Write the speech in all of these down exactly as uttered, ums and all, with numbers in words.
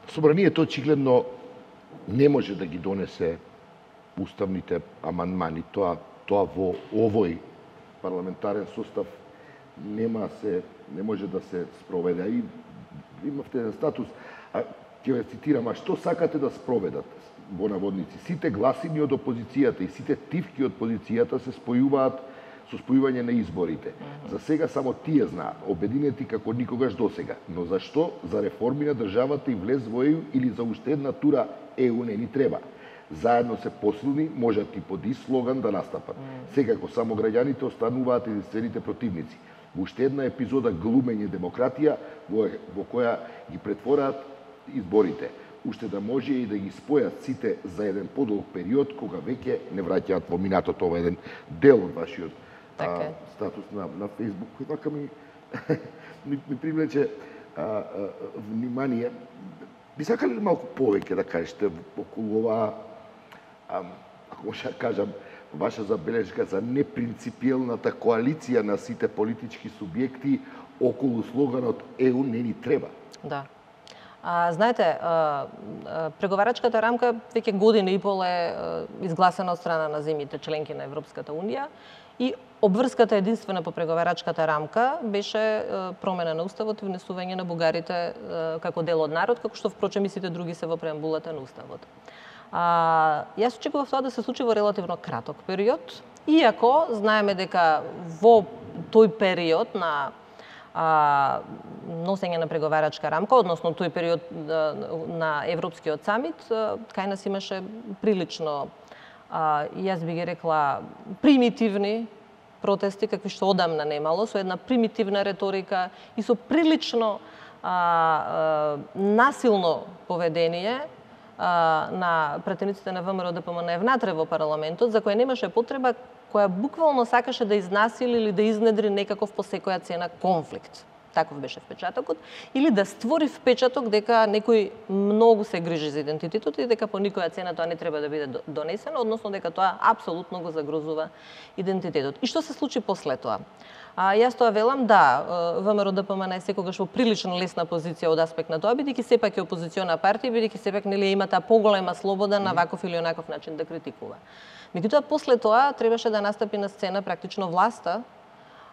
Собранието очигледно не може да ги донесе уставните амандмани. Тоа тоа во овој парламентарен состав нема се не може да се спроведе. И имавте еден статус, а ќе ве цитирам, а што сакате да спроведат? Во наводници, сите гласини од опозицијата и сите тивки од позицијата се спојуваат со спојување на изборите. За сега само тие знаат, обединети како никогаш досега. Но зашто за реформи на државата и влез во Е Ју или за уште една тура Е Ју не ни треба? Заедно се посилни, можат и под ист слоган да настапат. Секако само граѓаните остануваат единствените противници. Во уште една епизода глумење демократија во, во која ги претвораат изборите. Уште да може и да ги спојат сите за еден подолг период, кога веќе не враќаат во минатото. Ова еден дел од вашиот а, статус на, на Facebook, кој така ми, ми, ми привлече а, а, внимание. Би сакали ли малку повеќе да кажете околу оваа, ако може да кажам, ваша забележка за непринципиелната коалиција на сите политички субјекти околу слоганот Е Ју не ни треба? Да. А, знаете, а, а, преговарачката рамка веќе година и пол е а, изгласена од страна на земјите членки на Европската унија и обврската единствена по преговарачката рамка беше а, промена на уставот и внесување на бугарите а, како дел од народ, како што впрочем и сите други се во преамбулата на уставот. А, јас очекував тоа да се случи во релативно краток период, иако знаеме дека во тој период на а, носење на преговарачка рамка, односно тој период а, на Европскиот самит, а, кај нас имаше прилично, а, јас би ги рекла, примитивни протести, какви што одамна немало, со една примитивна реторика и со прилично а, а, насилно поведение на пратениците на ВМРО Д П М Н внатре во парламентот, за која немаше потреба, која буквално сакаше да изнасили или да изнедри некаков по секоја цена конфликт. Таков беше впечатокот. Или да створи впечаток дека некој многу се грижи за идентитетот и дека по никоја цена тоа не треба да биде донесено, односно дека тоа апсолутно го загрозува идентитетот. И што се случи после тоа? А, јас тоа велам, да, ВМРО Д П М Н е секогаш во прилично лесна позиција од аспект на тоа, бидејќи сепак е опозициона партија, бидејќи сепак нели има таа поголема слобода на ваков или онаков начин да критикува. Меѓутоа, после тоа требаше да настапи на сцена практично власта,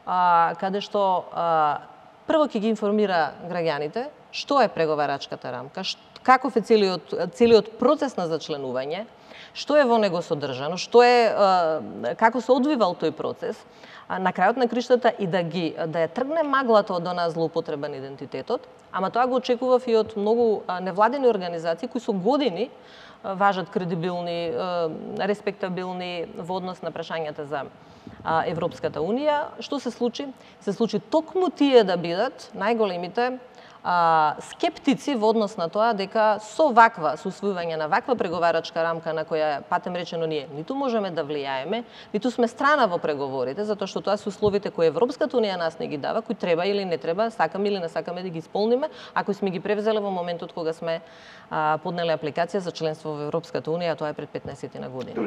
а, каде што а, прво ќе ги информира граѓаните што е преговарачката рамка, каков е целиот, целиот процес на зачленување, што е во него содржано, што е, а, како се одвивал тој процес, а, на крајот на криштата и да ги да ја тргне маглата од онаа злоупотреба на идентитетот, ама тоа го очекував и од многу а, невладени организации кои со години а, важат кредибилни, а, респектабилни во однос на прашањата за а, Европската унија. Што се случи? Се случи токму тие да бидат најголемите а, скептици во однос на тоа дека со ваква, со усвојување на ваква преговарачка рамка на која, патем речено, ние ниту можеме да влијаеме, ниту сме страна во преговорите, затоа што тоа се условите кои Европската унија нас не ги дава, кои треба или не треба, сакаме или не сакаме да ги исполниме, ако сме ги превзеле во моментот кога сме а, поднеле апликација за членство во Европската унија, тоа е пред петнаесет на години.